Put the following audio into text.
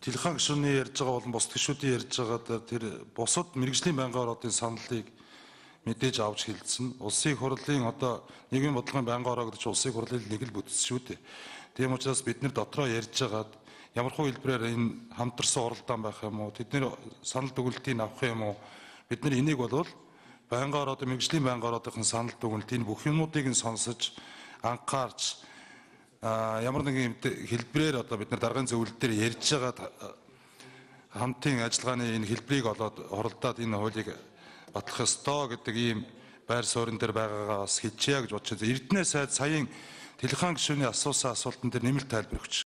Телефон гишүүний ярьж байгаа болон бус гишүүдийн ярьж байгаа тэр бусад мэрэгжлийн байнгын ороодын саналыг мэдээж авч хэлсэн. Улсын хурлын одоо нийгмийн бодлогын байнгын ороо гэдэг чинь улсын хурлын нэг л бүтц шүү дээ. Тийм учраас бид нэр дотроо ярьж байгаад ямархуу хэлбэрээр энэ хамтарсан оролдоон байх юм уу? Тэдний санал дүгнэлтийг авах юм уу? Бид нар энийг болвол байнгын ороодын мэрэгжлийн байнгын ороодын санал дүгнэлтийн бүх юмнуудыг нь сонсож анхаарч ямар нэгэн хэлбэрээр одоо бид нар даргын зөвлөлт дээр ярьж байгаа хамтын ажиллагааны энэ хэлбэрийг олоод оролдоод энэ хуулийг батлах ёстой гэдэг ийм байр суурин дээр байгаагаа бас хэлчихье гэж бодож байна. Эрдэнэ сайд саяын телефон гишүүний асуусан асуултан дээр нэмэлт тайлбар өгч